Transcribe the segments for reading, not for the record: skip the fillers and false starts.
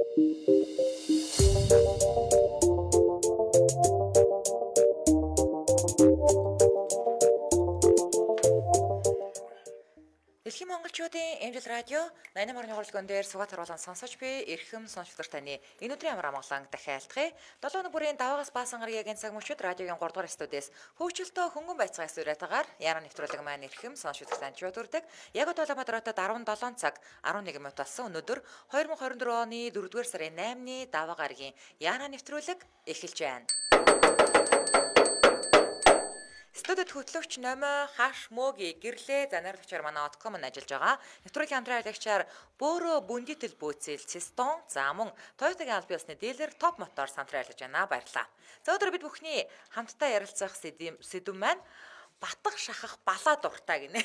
Дэлхийн монголчуудын Эмжил радио 88.1 хуралдаан дээр сугаат харуулан сонсож буй эрхэм сонсогчдод таны энэ өдрийн амар амгалан дахиалтгая. 7 өнөө бүрийн даваагаас баасан гарагийн цаг мөчид радиогийн 3 дугаар студиэс хөвчлөлтөө хөнгөн байцаагаас үрэтагаар яаран нэвтрүүлэг маань эрхэм сонсогчдод таньж төрдөг. Яг Улаанбаатарт 17 цаг 11 минут болсон өнөөдөр 2024 оны 4-р сарын 8-ны даваа гарагийн яаран нэвтрүүлэг эхэлж байна. Студид хөтлөгч Номой хаш мөгийн гэрлээ занарилагчаар манай Outcom нь ажиллаж байгаа. Нэвтрүүлгийн хамтран аялагчаар Бөөрө бүндитэл бөөцөл Систон за мөн Toyota-гийн аль биесны дилер Top Motor хамтран ажиллаж байна. Баярлалаа. За өдөр бид бүхний хамтдаа ярилцах сэдв маань батг шахах балаа дуртай гинэ.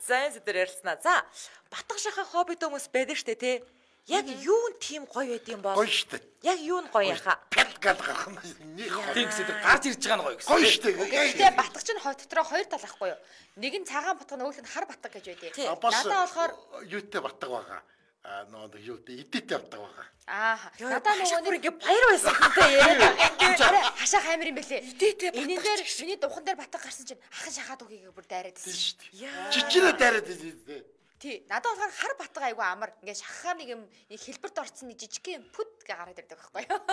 За энэ сэдвээр ярилцсанаа. За батг шахах хоббитэй хүмүүс байдаг штэ тий. Яг юу нь тийм гоё байд юм бол? Гоё штэ. Яг юу нь гоё яха? Пялгал гарах нь нэг тийм гэсэн гарч ирж байгаа нь гоё гэсэн. гоё штэ. Гэхдээ батг чинь хой дотроо хоёр тал ахгүй юу? Нэг нь цагаан батг, нөгөөх нь хар батг гэж байдیں۔ Надаа болохоор юутэй батг байгаа. Нөө юутэй эдэтэй батг байгаа. Надаа нөгөө нэг баяр байсан хүнтэй яриад хашаах амир юм бэлээ. Энийн дээр миний духан дээр батг гарсан чинь ахын шахаад үгийг бүр дайраад байсан штэ. Жижигнээ дайраад байсан. Тий, надад болохоор хар батг айгу амар. Ингээ шахахаар нэг юм хэлбэрт орцсон нэг жижиг юм пүт гэ гараад ирдэг байхгүй юу?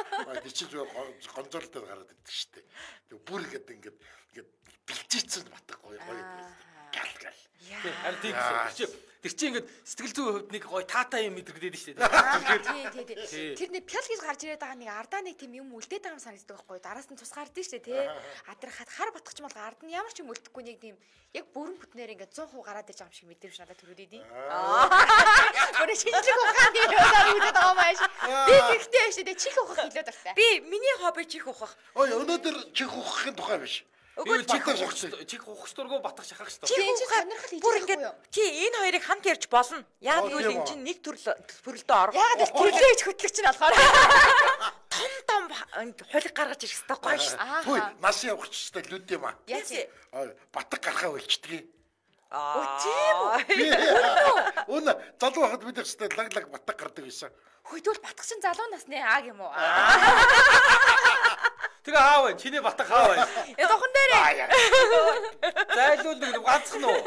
Тий чи гонзоолтой гараад ирдэг штэ. Тэг бүр ингээд бэлчээцэн батг гоё гал. Харин тийм тэр чинь ингээд сэтгэл зүйн хувьд нэг гоё таатай юм мэдрэгдээд штэ. Тий. Тэр нэг пял гэж гарч ирээд байгаа нэг ардаа нэг тийм юм үлдээд байгаа юм санагддаг байхгүй юу? Дараас нь тус гардыг штэ тий. Адрахад хар батгч бол ард нь ямар ч юм үлдэхгүй нэг тийм яг бүрэн бүтнээр ингээд 100% гараад иж байгаа юм шиг мэдрэмж надад төрөөд идэв. Бүрэн шинжлэх ухааны юмар үлдээд байгаа маш. Би тэгтэй штэ тий чих ухах хэлээд байна. Би миний хобби чих ухах. Ой өнөөдөр чих ухахын тухай биш. Үгүй чих ухах дургу батгах шахах шүү дээ. Чи сонирхол хийж байгаа юм. Чи энэ хоёрыг хамт ярьж болно. Яг гэвэл энэ чинь нэг төрөлдөө орох. Яг л төрлөөж хөтлөгч нь болохоор том хулиг гаргаж ирэх хэрэгтэй гоё шүү. Хөөе, нас явахчтай лүд юм аа. Яач? Батг гарахаа болчдгийг. Тийм үү? Өнө залуу хахад бид хэвчээ лаглаг батг гардаг байсан. Хөөдөл батг чинь залуу насны ааг юм уу? Тэгээ аав вэ? Чиний батг аав вэ? Духан дээрээ. Зайлуул нэг ганцхан уу?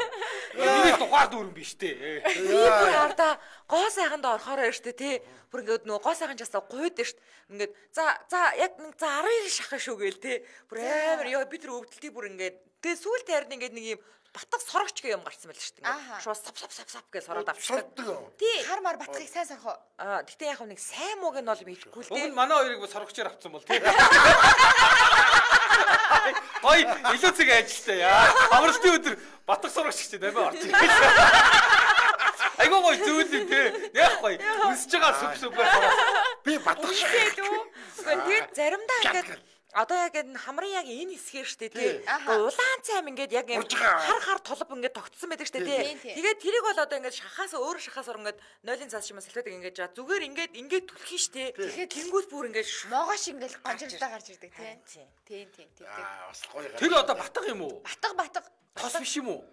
Миний тухаар дүүрэн биш дээ. Би бүр ардаа гоо сайханд орохоор штэ тий. Бүр ингээд нөгөө гоо сайхан часаа гуйд штт. Ингээд за яг нэг 12 шахах шүү гээл тий. Бүр амар ёо би тэр өвдөлтий бүр ингээд тэгээ сүүлд харин ингээд нэг юм батг сорогч гэх юм гарсан байл штт. Ингээд шууд сап гэж сороод авчихсан. Тий. Хар мар батгыг сайн сорох. Гэтэ яг нэг сайн мууг нь бол мэдхгүй л тий. Уг нь манай хоёрыг бас сорогчоор авцсан бол тий. Ой, илүү цэг ажилтай яа. Авралтын өдөр батг сурагч гэж нэмээ орчих. Айгуу гоё зүйл юм тий. Яг гоё. Үсэж байгаа сүп-сүпээр сурах. Би батг шиг. Тэгээд заримдаа ингээд одоо яг энэ хамрын яг энэ хэсгээр штэ тий. Улаан цайм ингээд яг хар толб ингээд тогтсон байдаг штэ тий. Тэгээд тэрийг бол одоо ингээд шахаас өөр шахаас ор ингээд 0-ын цаас шимээ салфетыг ингээд жаа зүгээр ингээд түлхин штэ. Тэгээд тэнгүүс бүр ингээд могоош ингээд гонжирдаа гарч ирдэг тий. Тийм. Бас гоё. Тэр одоо батг юм уу? Батг. Тос биш юм уу?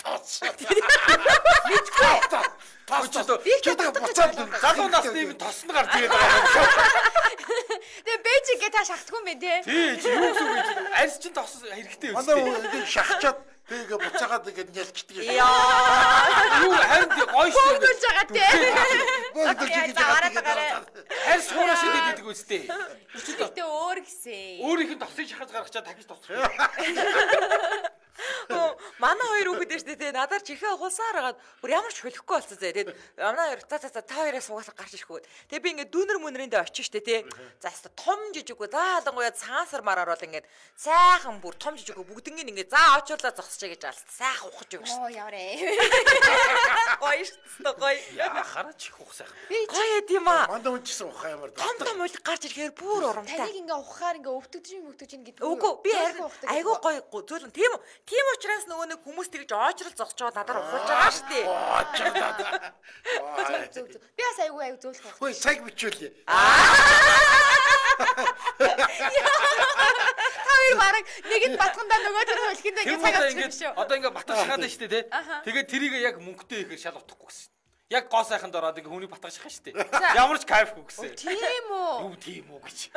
Тос. Мэдгүй. Чөтгө буцаад залуу насны юм тоснд гарч ирээд байгаа. Тэгээ бэжиг гээ та шахтгүй юм бэ тий. Тий, чи юу гэсэн үг вэ? Арьс чин тос хэрэгтэй үү? Манай ингэ шахчаад тэгээ буцаагаад ингэ нялчдаг. Юу харин гоё шүү. Бөөлж байгаа тий. Харин суураш идэдэг үстэй. Гэхдээ өөр гэсэн. Өөрийнх нь тосыг шахаж гаргачаад дахиж тосчих. Манай хоёр хүүхэд дээ штэ тий. Надаар чихээ ухуулсаар хагаад бүр ямар ч хөлөхгүй болсон зэ. Тэгээд манай хоёр та хоёроо суугаас гарч ирэхгүй. Тэгээд би ингээд дүүнер мөнөриндээ очиж штэ тий. За хэвээ том жижиггүй заалангуяа цаасар мараар бол ингээд сайхан бүр том жижиггүй бүгднийг ингээд за очуурлаа зогсчээ гэж алс. Сайхан ухаж өгч штэ. Оо яваарэ. Гоё штэ гоё. Хараа чих ух сайхан. Гоё тийм аа. Мандаа унжсан ухаа ямар том уйлг гарч ирэхээр бүр урамтай. Таныг ингээ ухахаар ингээ өвтөгж гэдэг. Үгүй би айгүй гоё зөөлөн тийм учраас нөгөө нэг хүмүүс тэгж оожрол зогсчоод надаар ухуулж байгаа шүү дээ. Би бас айгүй зөөлөх байх. Хөөе цаг бичүүлээ. Хоёр бараг нэгэд батгандаа нөгөөдөр хөлхөндөө ингээ цаг авчих шүү. Одоо ингээ батгах шахаад байна шүү дээ тий. Тэгээд тэрийг яг мөнгөтэй ихээр шал утахгүй гэсэн. Яг гоо сайханд ороод ингээ хүнийг батгаж шахах штэ. Ямар ч кайф үгсэн. Тийм үү? Юу тийм үү гэж.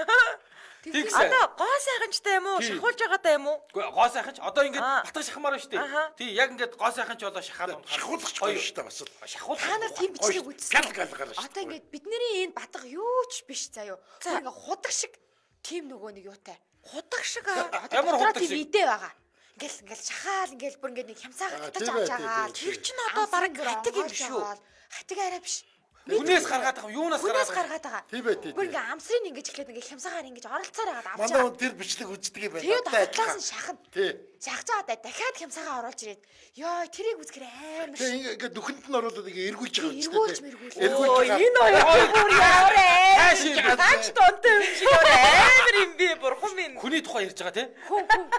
Одоо гоо сайханчтай юм уу? Шахуулж байгаатай юм уу? Үгүй гоо сайханч одоо ингээ батгаж шахмаар штэ. Тий яг ингээ гоо сайханч болоо шахаад шахуулах гоё штэ бас. Шахуулах. Та нар тийм бичлэг үзсэн. Гал гараа штэ. Одоо ингээ бидний энэ батга юу ч биш заяо. Ингээ худаг шиг тийм нөгөө нэг юутай. Худаг шиг ямар худаг шиг идэ байгаа. Ингээл шахаал ингээл бүр ингээ нэг хямцаагаар татаж авч байгаа. Тэр чинь одоо бараг хатаг юм шүү. Хатаг арай биш. Хүнээс гаргаад байгаа юунаас гаргаад байгаа. Тийм ээ тийм. Бүр ингээ амсрын ингэж эхлээд ингээ хямцаагаар ингэж оролцоор байгаа авч байгаа. Манай хүн тэр бичлэг үздэг юм байна. Тэгээд хатлаас нь шахна. Тий. Шахаж байгаа дахиад хямцаагаа оруулж ирээд ёо тэрийг үзэхэр амар. Тэгээ ингээ дүхэнд нь оруулаад ингээ эргүүлж байгаа юм чинь. Эргүүлж байгаа. Энэ хоёр бүр яарэ. Хаач тонтой юм шиг амар юм би бурхан минь. Хүний тухай ярьж байгаа тий?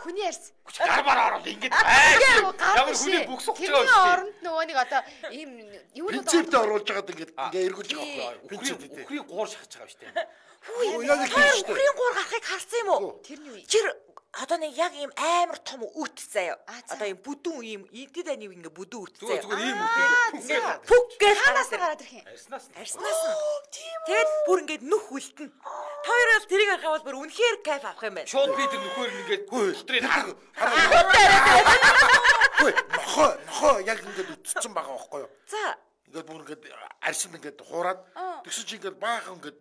Хүний ярьсан. Гарбаар ороод ингээд ямар хүний бүкс ухаж байгаа юм тий. Оронд нөгөө нэг одоо ийм юу нэг принциптэй оруулж байгаад ингээ эргүүлж байгаа. Ухрын гуур шахаж байгаа юм штэ. Хүү яг ухрын гуур гарахыг харсан юм уу? Тэрний үе. Чир одоо нэг яг ийм амар том үт заяа. Одоо ийм бүдүүн ийм эдэд ани ингээ бүдүүн үт заяа. Зүгээр ийм үт. Пүк гэж ханаас гараад ирэх юм. Арснаас. Тэгэд бүр ингээд нүх үлдэн. Хоёроос тэрийг харахад бүр үнэхээр кайф авах юм байна. Шууд би тэр нөхөр ингээд дотрыг Хөөе нохоо яг ингээд үтцсэн байгаа байхгүй юу? За ингээд бүр ингээд арьсанд ингээд хуураад тэгсэн чи ингээд баахан ингээд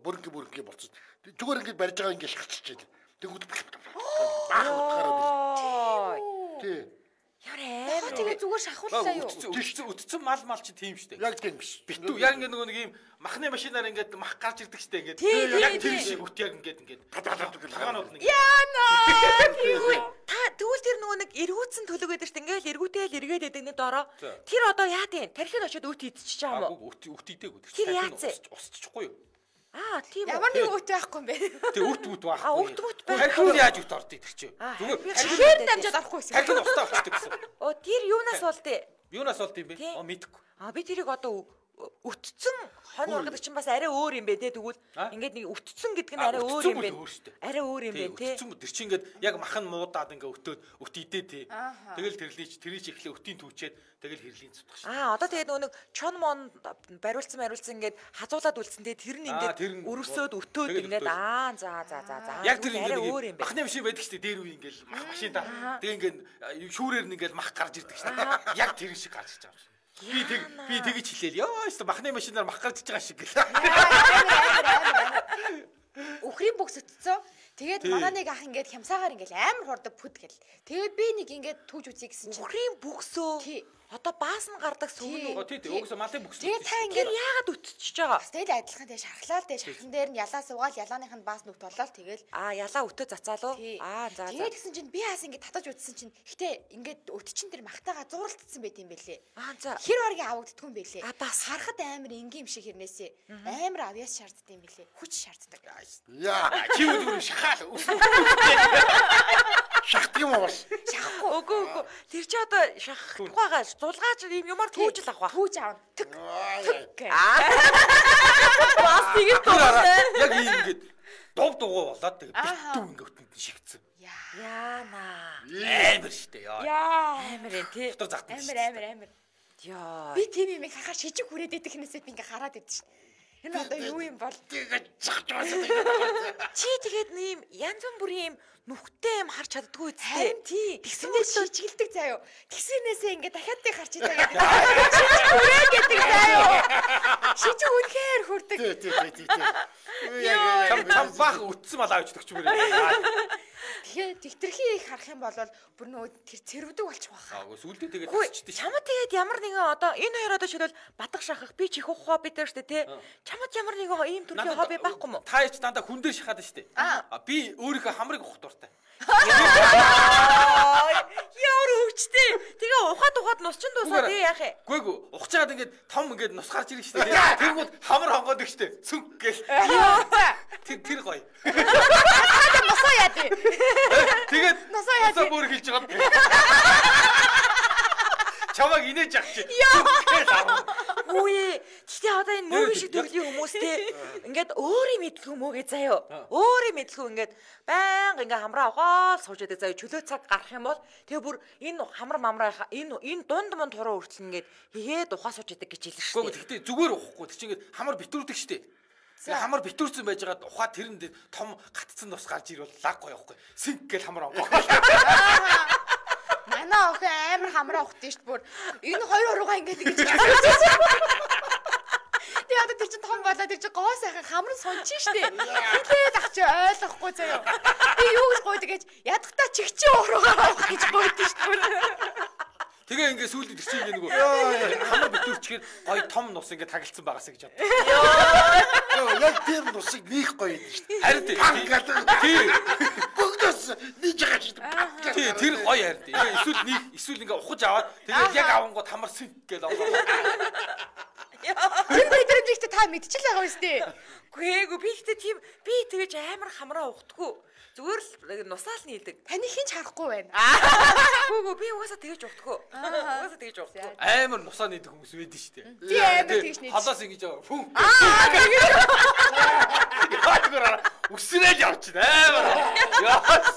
бүрэнгээ болчихсон. Зүгээр ингээд барьж байгаа ингээд шахчихжээ. Тэгвэл баахан утгаараа тий. Ярэ. Тэгээ зүгээр шахууллаа юу? Үтцэн мал чи тийм штэ. Яг тийм биш. Битүү яг ингээд нөгөө нэг ийм махны машинаар ингээд мах гарч ирдэг штэ ингээд. Яг тийм шиг үт яг ингээд хагаанууд нэг. Яна. Та тэгвэл тэр нөгөө нэг эргүүцэн төлөг байдаг штэ. Ингээл эргүүтэйл эргээд байдаг нэг дороо. Тэр одоо яа тийм? Тархинд очиод үт идчихэж байгаа юм уу? Үт идээгүй. Тэр яац? Усчихгүй юу? Тийм үү. Ямар нэг үт байхгүй юм бэ? Тэг үт байхгүй. Үт байх. Тархинд яаж үт ордог тэр чинь? Зүгээр чихээр дамжаад орохгүй байсан. Тархинд устаа очдог гэсэн. Тэр юунаас болдё? Юунаас болд юм бэ? Мэдэхгүй. Би тэрийг одоо үтцэн хонь ургадаг чинь бас арай өөр юм бэ те тэгвэл ингээд нэг үтцэн гэдэг нь арай өөр юм бэ. Арай өөр юм бэ те. Үтцэн тэр чинь ингээд яг махан муудаад ингээд өтөөд үт идээ те. Тэгэл тэрlийч эхлээ өтийн түүчээд тэгэл хэрлийн зүтгах шээ. Одоо тэгээд нөгөө чон мон бариулсан ингээд хазуулаад үлдсэн те тэр нь ингээд өрөвсөд өтөөд ингээд за. Яг тэр ингээд махны машин байдаг шүү дээ дээр үе ингээд мах машинда. Тэгээ ингээд шүүрээр нь ингээд мах гарч ирдэг шүү дээ. Яг тэр шиг гарч иж байгаа юм. Би тэгэж хэлээл. Ёо өстө махны машинаар мах гарч иж байгаа шиг гэл. Өхрийн бүкс өтцөө. Тэгээд манай нэг ах ингээд хямсаагаар ингээд амар хурдаг пүд гэл. Тэгээд би нэг ингээд түүж үзье гэсэн чинь өхрийн бүксөө одоо баас нь гардаг сүн үү? Тий. Угсаа малын бүкс. Тэгээд та ингээд яагаад өтчихөж байгаа? Тэгэл адилхан тэгээ шархлаа л дээ. Шархан дээр нь ялаа суугаал ялааных нь баас нүгт болоо тэгэл. Ялаа өтөө цацаалуу. За. Тэгээд гэсэн чинь би хаас ингээд татаж үзсэн чинь гэтээ ингээд өт чин тэр махтаага зууралдсан байт юм бэлээ. За. Хэр баргийн авагддгүй юм бэлээ. Бас харахад амар энгийн юм шиг хэрнээсээ амар авьяас шаарддаг юм бэлээ. Хүч шаарддаг. Яа, чи үгүй шахаал. Шахдаг юм уу? Шахахгүй. Үгүй. Тэр чи одоо шахахгүй байгаа. Зулгаач юм ямар түүжил авах ба. Түүж аавна. Тэг. Бас тэгээд туулаа. Яг ингээд дугуй болоод тэгээд битүү ингээд өтөнд шигцэн. Яана. Амар штэ яа. Амар энэ тий. Дотор загт. Амар. Яа. Би тийм юм хахаар шижиг хүрээд идэх хнээсээ би ингээд хараад идэж шин. Энэ одоо юу юм бол тэгээд загч байсан. Чи тэгээд ийм янз бүрийн юм нүхтэй юм харж чаддгүй үстэй. Тий. Тэгснээс шижгэлдэг заяо. Тэгснээсээ ингээд дахиад тийг харж идэг. Шижиг хүрээд гэдэг заяо. Шижиг үнэхээр хүрдэг. Тий. Чам бах үтсэн мал авч өгч мөрөө. Тэгэхээр тэгтрхий их харах юм бол бүр нөгөө тэр цэрвдэг болчих واخа. Сүлдээ тэгээд тасчихдээ. Чамд тэгээд ямар нэгэн одоо энэ хоёр одоо шилбэл бадах шахах би чих ухаа бид нар штэ тий. Чамд ямар нэгэн ийм төрлийн хобби байхгүй юу? Та ч дандаа хүн дээр шахаад штэ. Би өөрийнхөө хамрыг ухах дуртай. Яар өвчтэй. Тэгээ ухаад нусчин дуусаа тий яах вэ? Гүйгүй ухаж чаад ингээд том ингээд нус гарч ирнэ штэ. Тэргүүд хамар хонгоод штэ. Сүнг гэл. Тэр гоё. Носоо яа тий. Тэгээд носоо бүр хэлж байгаа. Чамаг инээж ах чи. Үгүй. Гэхдээ одоо энэ мөгийн шиг төрлийн хүмүүс те ингээд өөрийн мэдлэг мөгээ заяа. Өөрийн мэдлэг ингээд байнга ингээд хамраа угаал сууж байдаг заяа. Чөлөө цаг гарах юм бол тэгээ бүр энэ хамар мамраа энэ дунд манд тураа хүртэл ингээд хийгээд ухаа сууж байдаг гэж хэлсэн шүү дээ. Гэхдээ зүгээр уухгүй. Тэр чинь ингээд хамар битүүрдэг шүү дээ. Тэгээ хамар битүүрсэн байж байгаа ухаа тэрэнд том гатцсан тус гарч ирвэл лаг гоё явахгүй. Синк гэл хамар онгоо. Манай охин амар хамраа ухтээ шүү дээ бүр. Энэ хоёр уруугаа ингээд ингэж. Тэгээ одоо тэр чинь том болоо тэр чинь гоо сайхан хамрын сончин шүү дээ. Хэлээд ах чи ойлгохгүй заяа. Би юу гэж гойд гэж ядахтаа чигчээ уруугаа авах гэж гойд шүү дээ. Тэгээ ингээд сүүлд тэр чинь нөгөө хамар битүүрчгээр гоё том нус ингээд тагилцсан байгаасаа гэж бодсон. Яг тэр нусыг нийх гоё юм шүү дээ. Харин тийм. Бүгдээс нийж байгаа шүү дээ. Тий, тэр гоё харин. Эсвэл ингээд ухаж аваад тэгээд яг авангууд хамарсан гэж онгоо. Тэр мэдрэмжтэй та мэдчихэл байгаа юм шүү дээ. Гүй би ихтэй тийм би тэгэж амар хамраа ухдаггүй. Зүгээр л нусаал нийлдэг. Таны хинч харахгүй байна. Гүү би угаасаа тэгэж ухдаггүй. Угаасаа тэгэж ухдаггүй. Амар нусаа нийдэг хүмүүс байдаг шүү дээ. Тий амар тэгж нийт. Холоос ингэж фүн. Үсрээл явчихна амар.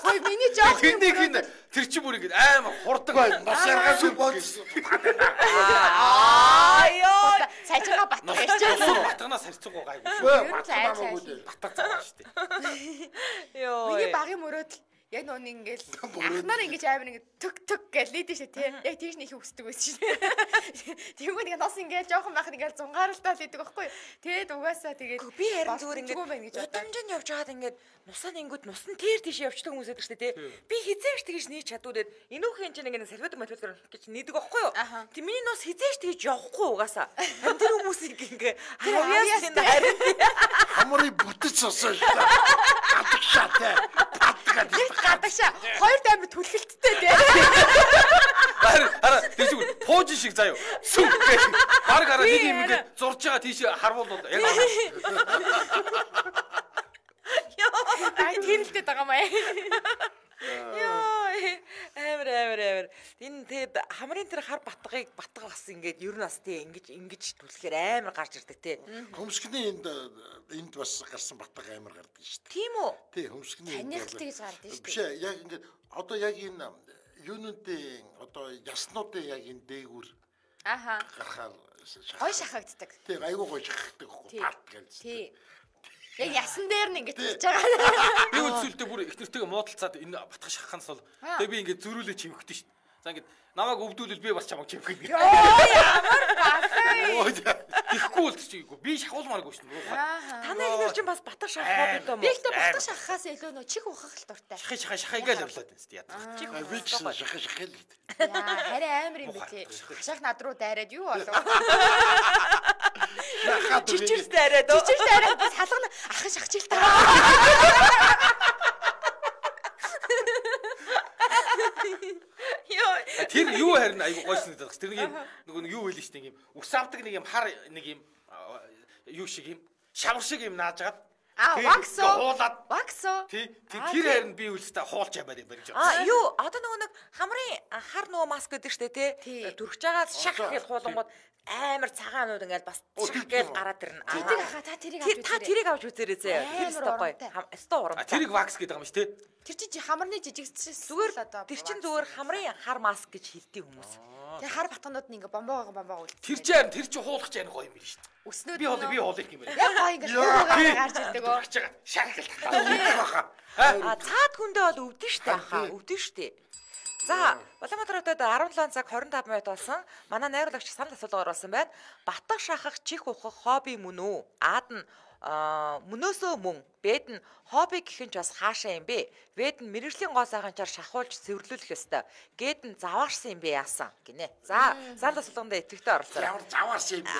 Ой миний жоох юм. Тэр чи бүр ингэж амар хурдаг байна. Нас яргаас бодсон. Ёо. Сайжгаа батгах ярьчихсан. Батганаас харьцангуй гайгүй. Батгах цаа шүү дээ. Ёо. Миний багын мөрөөдөл яг нөө ингээл ахнаар ингэж амар ингэ төг гэж лийдэж шээ тий. Яг тийш нэг их өсдөг байсан шээ. Тэгвэл ингэ нас ингээл жоохон байх ингээл зунгаарлалтаа лийдэг байхгүй. Тэгээд угаасаа тэгээд би харин зүгээр ингэ удамжинд явж байгаад ингэ нусаа нингүүд нусан тэр тийш явчихдаг хүмүүс байдаг шүү дээ тий. Би хизээш тэгэж нийж чадвараад энүүхэн чинь ингэ салфет матвал гэж нийдэг байхгүй юу. Тэг миний нус хизээш тэгэж явахгүй угаасаа. Тэр хүмүүсийг ингэ хавьяас энэ харин Хамрыг бүтэж сосоо шүү дээ. Гадагшаатай. гадагшаа хоёр даймар түлхэлттэй тий. Хараа тэр зүгээр пууж шиг заяа. Сүм гэх. Баг хараа нэг юм ингэ зурж байгаа тийш харвуулууд яг Ай тэрэлтэй байгаа маа. Яа амар. Энэ тэгээд хамрын тэр хар батгыг батга бас ингээд ер нь бас тий ингэж түлхэхээр амар гарч ирдэг тий. Хөмсгний энд бас гарсан батга амар гардаг шүү дээ. Тийм үү? Тий, хөмсгний Таних тэгж гардаг шүү дээ. Биш ээ, яг ингээд одоо яг энэ юунуудын одоо яснуудын яг энэ дээгүүр гарахаар гой шахагддаг. Тий, айгуу гой шахагддаг хөө парт гэж. Тий. Яг ясан дээр нь ингэж хийж байгаа. би үлсүүлдэ бүр их нэртэйгээ муудалцаад энэ батгах шахаханаас бол тэгээ би ингээд зөрүүлээ чимхдэг шүү дээ. За ингээд намайг өвдүүлвэл би бас чамайг чимхэх гэдэг. Ямар багтай. Ихгүй л чийггүй. Би шахуулмааргүй шүү дээ. Танай энэ чинь бас батга шахах гэдэг юм уу? Би ихтэй батгах шахахаас илүү нөө чих ухах л дуртай. Шахаа ингээл явлаад байна шүү дээ. Чих би ч шахах л гэдэг. Яа, харин амар юм бэ тий. Хашаах над руу дайраад юу болов? Чичирс дайраад уу? Чичирс дайраад салгана ахын шахчих та. Тэр юу харин айгу гойсон гэдэг. Тэр нэг юм нөгөө юу хэлсэн шүү дээ. Нэг юм ус авдаг нэг юм хар нэг юм юу шиг юм шавар шиг юм наажгаад Ваксо. Тий. Тэр харин би үлстэй хуулж ямаар юм барьж байгаа. Юу одоо нөгөө нэг хамрын хар нөгөө маск гэдэг шүү дээ тий. Дүрхэж байгаа шах гэж хуулангууд амар цагаанууд ингээл бас шах гэж гараад ирнэ. Та тэрийг авч үзээрэй зэ. Тэр өстой гоё. Өстой урамтай. Тэрийг вакс гэдэг юм шүү дээ. Тэр чинь хамрны жижигчээс зүгээр л одоо. Тэр чинь зүгээр хамрын хар маск гэж хэлдэг хүмүүс. Тэгээ хар батганууд нь ингээ бомбоо үл. Тэр чинь хуулах чинь гоё юм биш шүү дээ. Өснөө би хуулах юм байна. Яг гоё ингээ гарч ирдэг өө. Шахалт. Цаад хүндээ бол өвдөн штэ хаа. Өвдөн штэ. За, Улаанбаатар хотод 17 цаг 25 минут болсон. Манай найруулагч санал асуулгаар болсон байна. Батга шахах чих ухах хобби мөн үү? Аад нь мөнөөсөө мөн, бэд нь хобби гэх нь ч бас хаашаа юм бэ? Бэд нь мэрэгжлийн гоо сайханчаар шахуулж цэвэрлүүлэх ёстой. Гээд нь заваарсан юм бэ яасан гинэ. За, санал асуулганд идэвхтэй оролцоо. Ямар заваарсан юм бэ?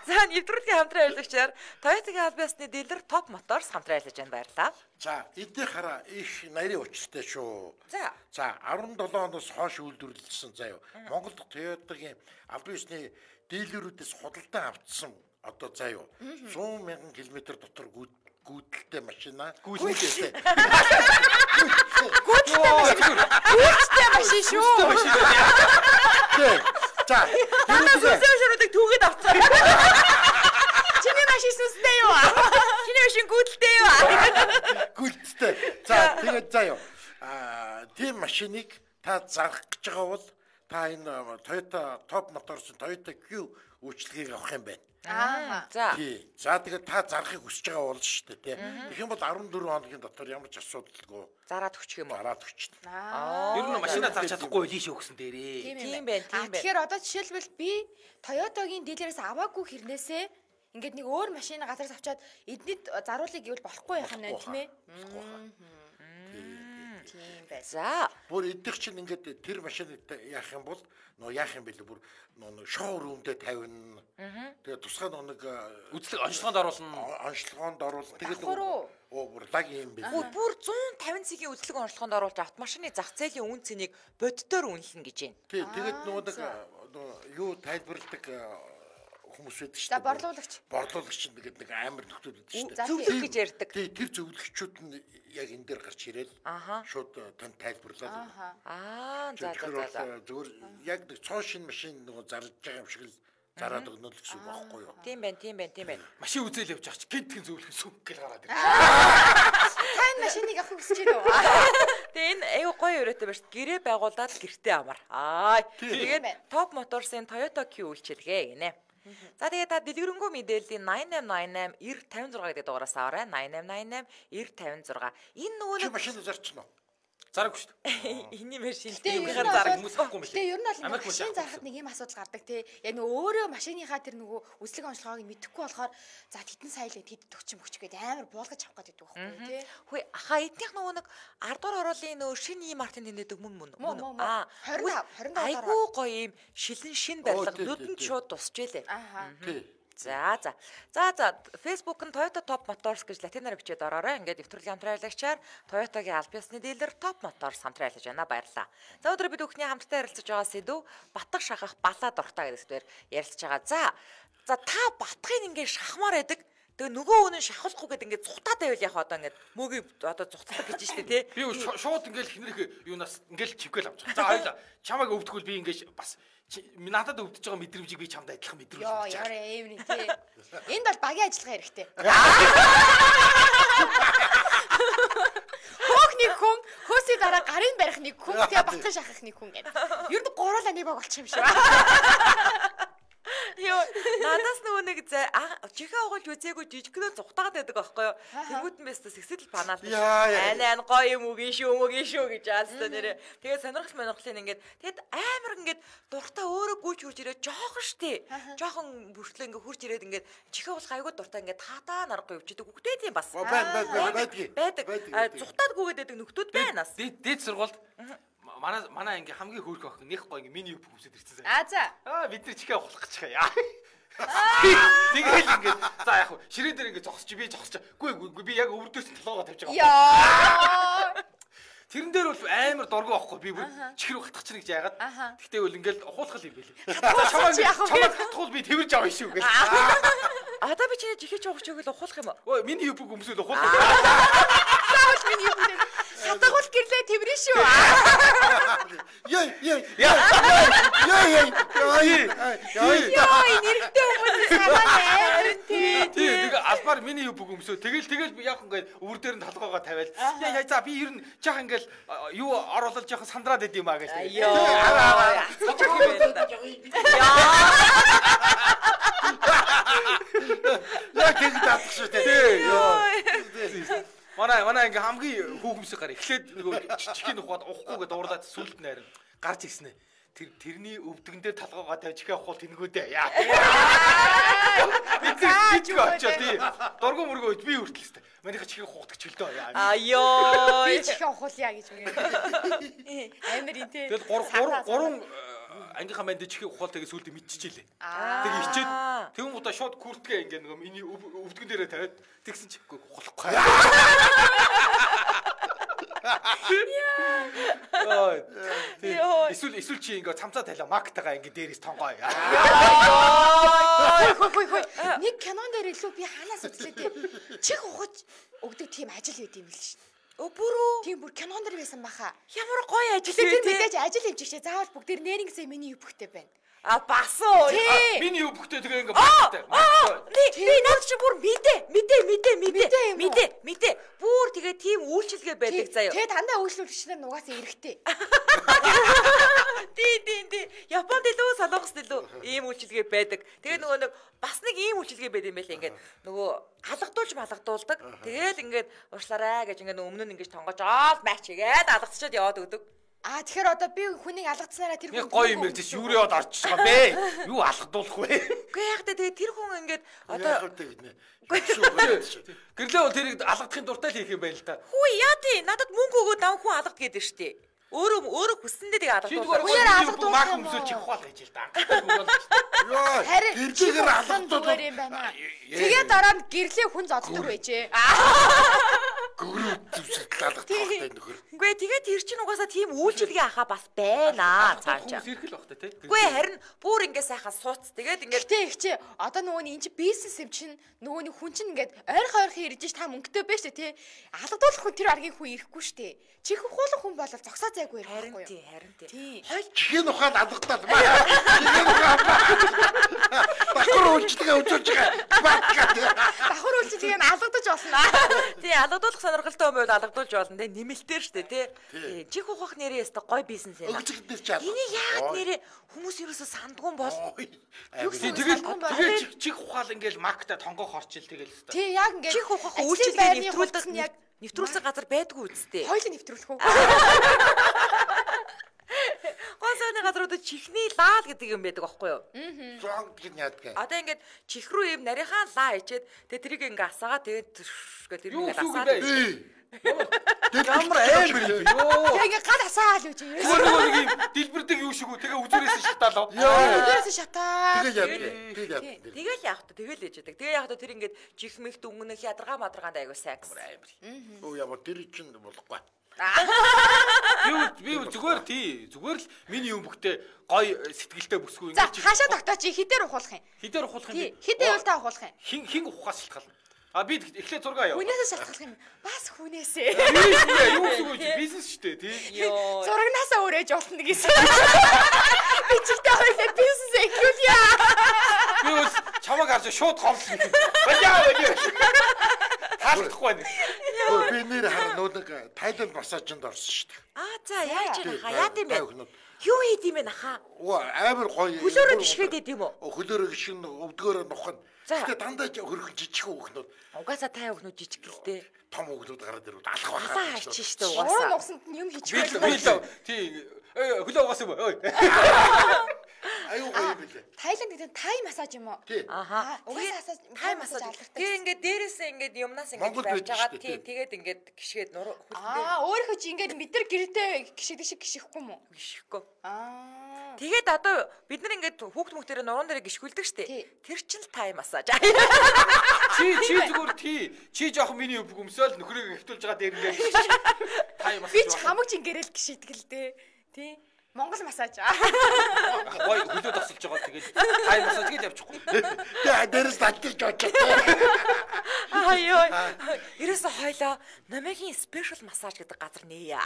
За, нэвтрүүлгийн хамтран ажиллагчаар Toyota-гийн аль биесны дилер Top Motors хамтран ажиллаж байна. Баярлалаа. За, эдгээр хараа их нарийн учиртай шүү. За, 17 оноос хойш үйлдвэрлэсэн заяа. Монголд Toyota-гийн аль биесны дилерүүдээс худалдан авчихсан одоо заяа 100,000 км дотор гүйдэлтэй машина. Гүйдэлтэй. Гүйдэлтэй машин шүү. За. Сүсэшрүүдийг түүгээд авцгаа. Чиний машин сүстэй юу? Чиний машин гүйдэлтэй юу? Гүйлттэй. За тэгээд заяа. Тийм машиныг та зарах гэж байгаа бол та энэ Toyota Top Motors Toyota Q үйлчлэгийг авах юм байна. За. Тий. За тэгээд та зарахыг хүсэж байгаа бол шүү дээ тий. Тэгэх юм бол 14 хоногийн дотор ямар ч асуудалгүй Зараад өгчих юм уу? зараад өгчнө. Ер нь машина зарч чадахгүй лий шүү гэсэн дээрээ. Тийм байна, тийм байна. Тэгэхээр одоо жишээлбэл би Toyota-гийн дилерээс аваагүй хэрнээсээ ингээд нэг өөр машин газраас авчаад эднийд заруулыг гэвэл болохгүй байх юм байна тийм ээ. Тийм байна. За. Бүр идэх чинь ингээд тэр машиныг яах юм бол яах юм бэлээ бүр шоурумдээ тавина. Тэгээ тусгай нэг Үзлэг онцлогоонд оруулна. онцлогоонд оруулна. Тэгээд Давхар уу? бүр лаг юм бэлээ. Бүр 150 цэгийн үзлэг онцлогоонд оруулж автомашины зах зээлийн үн цэнийг боддоор үнэлнэ гэж байна. Тий, тэгээд нэг юу тайлбарладаг хүмүүс байдаг шүү За борлуулагч. Борлуулагч нэгэд нэг амар нөхдөд байдаг шүү За, Зөвлөх гэж ярьдаг. Тий, тэр зөвлөгчүүд нь яг энэ дээр гарч ирээд шууд тань тайлбарлаад. За. Зүгээр яг нэг цоо шин машин нөгөө зарлж байгаа юм шиг л зараад өгнө л гэсэн үг байхгүй юу? Тийм байна. Машин үзэл явж байгаа чи гинтхэн зөвлөх сүм гэл гараад ирээ. Тань машиныг авах хүсэж байна уу? Тэгээ энэ аюу гоё өрөөтэй байна шүү. Гэрээ байгуулад гэртээ амар. Тэгээд Top Motors-ын Toyota Q үйлчилгээ гинэ. За тэгээд та дэлгэрэнгүй мэдээллийн 8888 956 гэдэг дугаараас аваарай. 8888 956. Энэ нөгөө Чи машин зарчна уу? Зараггүй шүү дээ. Эний машин Тэгээ хийхээр зараг хүмүүс авахгүй юм билээ. Тэгээ ер нь бол Америк машин зарахад нэг юм асуудал гардаг тий. Яг нөгөө өөрөө машиныхаа тэр нөгөө үзлэг онцлогоог мэдэхгүй болохоор за хэдэн сая л хэд төгч гэдэг амар буулгаж авах гэдэг байхгүй тий. Хөөе аха эднийх нөгөө нэг 10 дугаар оруулын нөгөө шинэ ийм мартин тэнэдэг мөн. 25 айгуу гоё ийм шин барилга нүдэнд шууд тусч илээ. Тий. За Facebook-ын Toyota Top Motors гэж латинаар бичээд ороорой. Ингээд нэвтрүүлгийн хамтран аялагчаар Toyota-гийн аль биесны дилер Top Motors хамтран айлж байна. Баярлалаа. За өдөр бид бүхний хамтдаа ярилцаж байгаа сэдв батг шахах балаа дуртай гэдэгтэр ярилцаж байгаа. За та батгыг ингээд шахмаар байдаг. Тэгээ нөгөө үнэн шахахгүй гэдэг ингээд цухтаад байвал яг одоо ингээд мөгийг одоо цухтдаг гэж штэ тий. Би шууд ингээл хинрэх юунаас ингээл чивгээл авч байгаа. За хоёлаа чамайг өвдгөл би ингээд бас надад өвдөж байгаа мэдрэмжийг би чамд адилхан мэдрүүлж Йоо, байгаа. яарэ эврий тий. Энд бол багийн ажиллагаа хэрэгтэй. Хөөхний хүн, хөөсний дараа гарын барих нэг хүн, тэгээ батган шахах нэг хүн гэдэг. Ер нь гуруулаа нэг баг болчих юм шиг. Йоо, надаас нөгөө нэг чихээ оголж үзээгүй жижигнөө цухтаад байдаг байхгүй юу? Тэргүүтэн байсаа сэгсэл панаал. Айн гоё юм үгүй шүү гэж аалстаа нэрээ. Тэгээд сонирхол ингээд тэгэд амар ингээд дуртай өөрөө гүйж хурж ирээд жоохон штэ. Жоохон бүртлээ ингээд хурж ирээд ингээд чихээ уулах айгуу дуртай ингээд таатаа нарахгүй явчихдаг хүүхдүүд юм бас. Байдаг. Цухтаад гүйгээд байдаг нөхдүүд байна бас. Дээд сургуульд манай ингээ хамгийн хөөрхөн охин нэг гоё ингээ миний үп хүмсэд ирсэн. За. Бид нар чихээ ухах гэж байгаа. Тэгэл ингээ за яг ширээ дээр ингээ зогсож би зогсож. Гүй би яг өвөрдөөс толгоогоо тавьж байгаа. Яа. Тэрэн дээр бол амар дургу байхгүй би бүр чихэр ухах чинь гэж яагаад. Гэхдээ бол ингээл ухуулах юм байлээ. Чамайг хатхуул би тэрж авах шүү гэж. Одоо би чиний чихээ жоохч өгөл ухуулах юм уу? Ой миний үп хүмсэд ухуулах. Заавал миний юм дээр хатагуул гэрлээ тэрвэрэн шүү. Яй. Яа, нэрхтээ хүмүүс санаа тий. Нэг албаар миний үп хүмсөө тэгэл яг ингээд өвөр дээр нь толгоогоо тавиал. Яа за би ер нь жах ингээд юу оруулаад жах сандраад идэм аа гэж. Яа. Яг ингэ таах шүү дээ. Манай ингээ хамгийн хүүхэмсэг гар эхлээд нөгөө чихийн ухаад ухахгүйгээ дуурлаад сүлд нь харин гарч ирсэн ээ. Тэрний өвдгөн дээр талгаагаа тавь чихээ ухуул тэнгүүдээ. Яа. Би очоо тий. Дургу мөргөө би хүртэл өстэй. Манайха чихээ ухахдаг чөлдөө. Айоо. Би чихээ ухуулъя гэж үгээд. Амар ин тий. Тэгэл гурван ангийнхаа манд чихээ ухаал тэгээ сүлд мэдчихжээ. Тэгээ ичээд тэгэн удаа шууд күртгээ ингээ нөгөө миний өвдгөн дээрээ тавиад тэгсэн чихгүй ухахгүй. Эсвэл чи ингээ цамцаа талаа мактагаа ингээ дээрээс тонгоо. Хой. Нэг кинон дээр илүү би ханаас үзлээ тий. Чих ухаж өгдөг тийм ажил байд юм л шин. Бүрөө. Тийм бүр кинон дээр байсан баха. Ямар гоё ажил Тэр вэ тий. мэдээж ажил хэмжигчээ заавал бүгд нэрнгэсээ миний юбхтэй байна. А бас уу. Миний өвгтөө тэгээ ингээ багтай. Би наад чи бүр мэдээ. Бүр тэгээ тийм үйлчилгээ байдаг заяа. Тэгээ дандаа үйлчлүүлэгч нар нугасаа эрэхтэй. Тий. Японд илүү солонгост илүү ийм үйлчилгээ байдаг. Тэгээ нөгөө нэг бас нэг ийм үйлчилгээ байд юм байлаа ингээд нөгөө алгадуулдаг. Тэгээд ингээд уушлаарай гэж ингээд өмнө нь ингээд тонгож матч хийгээд алгацчаад яваад өгдөг. Тэгэхээр одоо би хүнийг алгацсанараа тэр хүн гоё юм ярьж юу яваад орчих байгаа бэ? Юу алгадуулах вэ? Үгүй яг тэгээ тэр хүн ингээд одоо гэрлээ тэрийг алгадахын дуртай л хийх юм байл та. Хүү яа тий надад мөнгө өгөөд нам хүн алгад гэдэг штэ. Өөрөө хүссэндээ тэгээ алгадуулах. Хүнээр алгадуулах мах өмсөж чих хоол гэж л да. Харин гэрээр алгадуулах юм байна. Тэгээ дараа нь гэрлээ хүн зоддог байжээ. Гөрөө зүсэлт алгадуулах нөхөр. Үгүй тэгээ тэр чинь угаасаа тийм үйлчлэгээ ахаа бас байна цаашаа. Хүмүүс ирэх л бах та тий. Үгүй харин бүр ингээ сайхан сууц. Тэгээд ингээд тий ихчээ одоо нөгөөний энэ чи бизнес юм чинь нөгөөний хүн чинь ингээд ойрхон ирж ш та мөнгөтэй байж тээ тий. Алгадуулах хүн тэр аргийн хүн ирэхгүй штэ. Чих ухуулах хүн бол зогсоо зайгүй ирэхгүй юу? Харин тий. Хой чихэн ухаан алгадаад маа. Чихэн ухаан. Бахар үйлчлэгээ үзүүлж байгаа. Бахар үйлчлэгээ нь алгадаж болно. Тий алгадуулах сонирхолтой юм бол алгадуулж болно тий. Нэмэлтээр штэ тий. Чих ухах нэрээ өстө гой бизнес юм. Өгцөгдөр ч алга. Энийг яагаад нэрээ хүмүүс ерөөсө сандгуун бол. Тэгээд чих ухаал ингээл маркета тонгоо хорчил тэгэл өстө. Тий яг ингээд чих ухах үйлчлэгээ нэвтрүүлдэг нь яг нэвтрүүлсэн газар байдгүй үсттэй. Хоёулаа нэвтрүүлэх үү? Гонсооны газруудад чихний лаал гэдэг юм байдаг аахгүй юу? Зонг гэж яадаг. Одоо ингээд чих рүү юм нарийнхаа лаа ичээд тэгээ тэрийг ингээ асаагаа тэгээд тэр ингээ асаад. Ямар амар юм ёо. Тэгээ гал асаал юу чи. Өөрөө нэг юм дэлбэрдэг юу шиг үү. Тэгээ үзүүрээс шатаалаа. Үзүүрээс шатаа. Тэгэл яах вэ? Тэгэл ээж яадаг. Тэгээ яах вэ? Тэр ингээд чих мэгт өнгөнөх ядаргаа мадаргаанд айгуу сайкс. Оо ямар тэр чинь болохгүй. Би зүгээр л миний өмгтэй гой сэтгэлтэй бүсгүй ингэж. За хаашаа тогтооч хідээр ухуулах юм. Хідээр ухуулах юм. Хідээ явал та ухуулах юм. Хин ухаас шалтгаална. Би эхлээ зураг аваа. Хүнээсээ шалтгаалах юм. Бас хүнээсээ. Юу гэсэн үг бизнес шүү дээ тий. Зурагнаасаа өрөөж болно гэсэн. Би чигтэй хоёлаа бизнес эхлүүлье. Би бас чамаг харж шууд ховлоо. Баяа. Хаалахгүй байна. Би нэр хар нэг Тайланд массажинд орсон шүү дээ. За яаж яа тийм бэ? Юу хийд юм бэ наха? Амар гоё. Хөлөөрөө гიშгээд идэв юм уу? Хөлөөрөө гიშгэн өвдгөөрөө нухна. Гэтэ дандаа хөрхөн жижиг хүүхнүүд. Угаасаа та хүүхнүүд жижиг гэлтэй. Том хүүхнүүд гараад ирвэл алах байна. Алаа хайчих штэ угаасаа. Уурын усанд юм хийчих байлаа. Тий. Хөлөө угаасан юм. Ой. Аюу гоё билээ. Тайланд гэдэг тай массаж юм уу? Аха. Угаасаа тай массаж алдартай. Тэгээ ингээд дээрээсээ ингээд юмнаас ингээд барьж байгаа. Тий. Тэгээд ингээд гიშгээд нур хөлдөө. Өөрийнхөө чи ингээд мэдэр гэртээ гიშгдэг шиг гიშихгүй мүү? Гიშихгүй. Тэгээд одоо бид нар ингээд хүүхд мөхтөрөө нуруунд дээр гიშгүүлдэг штэ. Тэр чинь тай массаж. Чи зүгээр тий. Чи жоохон миний өвг өмсөөл нөхрийг хэвтүүлж байгаа дээр ингээд тай массаж. Би ч хамаг жингэрэл гიშидэг л дээ. Тий. Монгол массаж. Гой хөлөө тасалж байгаа тэгээд тай массаж гэж явчихгүй. Тэгээ дээрээс татчих жоо. Айой. Ерөөсө хойлоо номигийн спешиал массаж гэдэг газар нээе.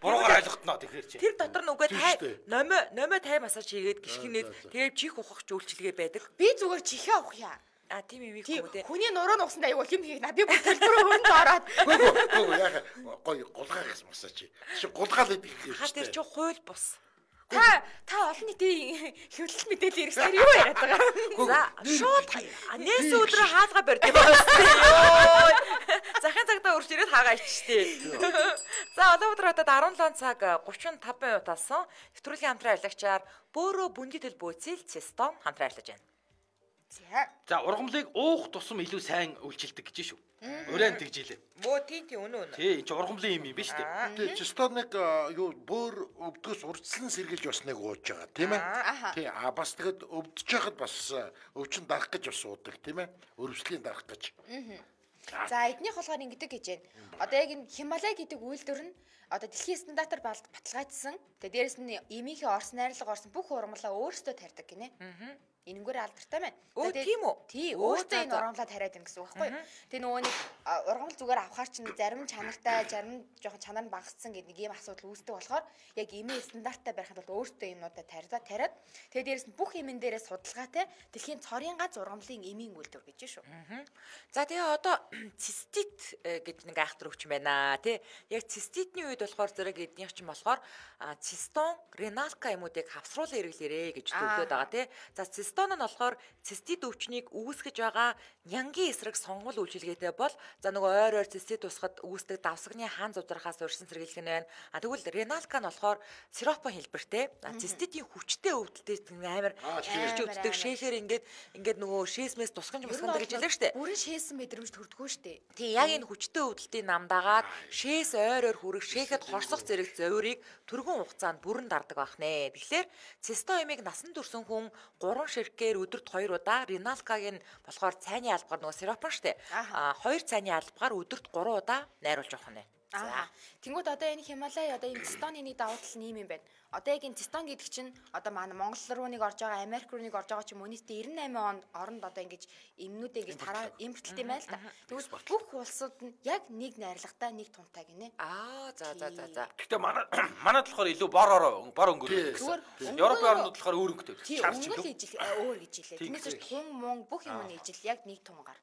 Буруугаар ойлгохтноо тэгэхээр чи. Тэр дотор нүгээ тай номио тай массаж хийгээд гიშгэнээд тэгээд чих ухах үйлчилгээ байдаг. Би зүгээр чихээ ухъя. Тийм юм ийхгүй дээ. Хүний нуруу нугсанд аюул юм хийх. Би бүр төлбөрөө өрөнд ороод. Гөө яах гоё гулгаагаас массаж. Чи гулгаал идэх юм. Ха тэр чи хууль бус. Та олон нийтийн хэвлэл мэдээлэл хэрэгсээр юу яриад байгаа? За шууд нээс өдрөө хаалга барьдаг байсан. Йоо. Захын цагтаа урж ирээд хаагаа ичтэй. За одоо өдөр хатад 17 цаг 35 минут болсон. Нэвтрүүлгийн хамтран ажиллагчаар Бөөрө бүндитэл бөөцөл Цестон хамтран ажиллаж байна. За ургамлыг уух тусам илүү сайн үйлчилдэг гэж шүү. Уран тэгжилээ. Бөө тий үнэн. Тий энэ ургамлын юм биш үү? Тий Цестоныг юу бөөр өвдгөөс урдслан сэргийлж усныг ууж байгаа тийм ээ. Тий бас тэгэд өвдөж байхад бас өвчин дарах гэж бас уудаг тийм ээ. Өрөвслийн дарах гэж. За эднийх болохоор ингэдэг гэж байна. Одоо яг энэ Хималай гэдэг үйлдвэр нь одоо дэлхийн стандартаар баталгаажсан. Тэгээ дээрэс нь эмийнхээ орс найрлага орсон бүх ургамлаа өөрсдөө тарьдаг гинэ. энэнгээр алдартай байна. Өө тийм үү? Тий, өөртөө энэ ургамлаа тариад байна гэсэн үг байхгүй юу? Тэгээ нөгөө нэг ургамал зүгээр авахар чинь зарим чанартай, зарим жоохон чанар нь багассан гэдэг нэг юм асуудал үүсдэг болохоор яг эмээ стандарттай барихад бол өөртөө юмнуудаа тариад тэгээ дээрэс нь бүх эмэн дээрээ судалгаатай дэлхийн цорын ганц ургамлын эмийн үйлдвэр гэж шүү. За тэгээ одоо цистит гэж нэг айхтар өвчин байна тий. Яг циститний үед болохоор зэрэг эднийх чинь болохоор цистон реналка юмуудыг хавсруулан хэрэглээрэ гэж төвлөд байгаа тий. За цистон нь болохоор цистит өвчнийг үүсгэж байгаа нянгийн эсрэг сонгол үйлчилгээтэй бол за нөгөө ойр цистит усахад үүсдэг давсагны хаан зузрахаас урьдчилан сэргийлэх нь байна. Тэгвэл реналка нь болохоор сиропон хэлбэртэй. Циститийн хүчтэй өвдөлттэй амар шилж өвддөг шээхээр ингээд нөгөө шээсмээс тусгаж мусгана гэж хэлдэг штэ. Бүрэн шээсэн мэдрэмж төрдгөө штэ. Тий, яг энэ хүчтэй өвдөлтийн намдаагаад шээс ойроор хүрэх шээхэд хорсох зэрэг зовирыг түргэн хугацаанд бүрэн дардаг байх нэ. Тэгэхээр цистоэмийг насан турш хүн 3 ширхгээр өдөрт 2 удаа, реналкагийн болохоор цайны албагаар нөгөө сиропон штэ. 2 цайны албагаар өдөрт 3 удаа найруулж явах нь. Тэнгүүд одоо энэ Хималай одоо энэ цистоны нэг давуу тал нь юм байна. Одоо яг энэ цистон гэдэг чинь одоо манай Монгол руу нэг орж байгаа, Америк руу нэг орж байгаа ч юм уу нийтдээ 98 онд оронд одоо ингэж эмнүүдээ ингэж тараа импортлт юм байл та. Тэгвэл бүх улсууд нь яг нэг найрлагатай, нэг тунтай гинэ. За. Гэхдээ манад болохоор илүү бор өнгөрөө. Европын орнууд болохоор өөр өнгөтэй. Өнгөл ижил өөр гэж хэлээ. Тиймээс тун мун бүх юм нь ижил яг нэг тунгаар.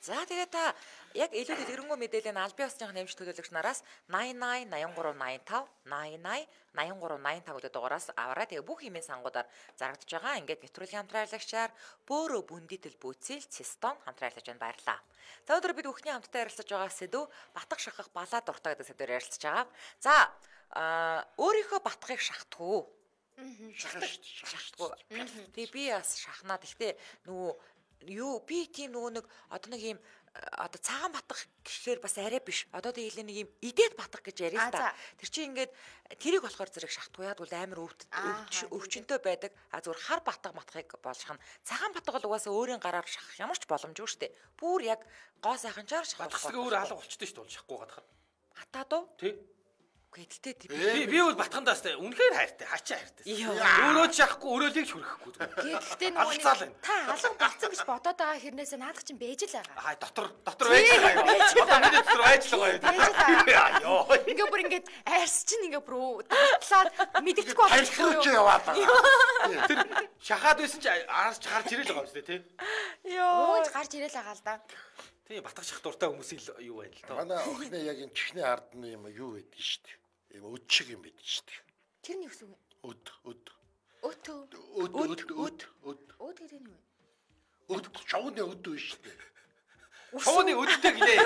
За тэгээ та яг илүү дэлгэрэнгүй мэдээллийн аль бие усны нэмж төлөөлөгч нараас 88 83 85 88 83 85 гэдэг дугаараас аваарай. Тэгээ бүх имэйл сангуудаар зарагдаж байгаа. Ингээд нэвтрүүлгийн хамтраалагчаар бөөрө бүндитэл бүүцэл цистон хамтраалагч байна. Баярлалаа. За өнөөдөр бид бүхний хамтдаа ярилцаж байгаа сэдв батг шахах балаа дуртай гэдэг сэдвээр ярилцаж байгаа. За өөрийнхөө батгыг шахдаг уу? Шахдаг. Тэгээ би бас шахнаа. Гэхдээ нөгөө би тийм нөгөө нэг одоо нэг юм одоо цагаан батгах гэхээр бас арай биш. Одоо тэгээ нэг юм идээд батгах гэж яриа л та. Тэр чинь ингээд тэрийг болохоор зэрэг шахтгүй яад бол амар өвчнөд байдаг. Зүгээр хар батгах матхыг болгох нь цагаан батгах бол угаасаа өөрийн гараар шахах ямар ч боломжгүй шүү дээ. Бүр яг гоо сайханчаар шахах. Батгах өөр алга болчтой шүү дээ шахахгүй гадахаар. Хатаад уу? Тий. Гэдэлтэй би бол батгандаас үнэхээр хайртай, хачаа хайртай. Өөрөө шахахгүй, өрөөлийг хүрхэхгүй. Гэхдээ нөгөө та алга болцсон гэж бодоод байгаа хэрнээсээ наадах чинь бэж л байгаа. Дотор байж байгаа. Дотор байж л байгаа. Йоо. Ингээ бүр ингээд айрс чинь ингээ бүр татлаад мэдчихгүй болчихгүй юу яваад байгаа. Тэр шахаад байсан чи араас гарч ирэл байгаа юм шүү дээ, тий. Йоо. Гарч ирэл байгаа л да. Тий, батгах шах дуртай хүмүүсийн юу байна л доо. Манай охины яг энэ чихний ард нь юм юу байдаг шүү дээ. Өд шиг юм байдаг шүү дээ. Тэр нь юу гэсэн үг вэ? Өд гэдэг нь юу вэ? Өд чавны өд биш шүү дээ. Чавны өдтэй ginээ.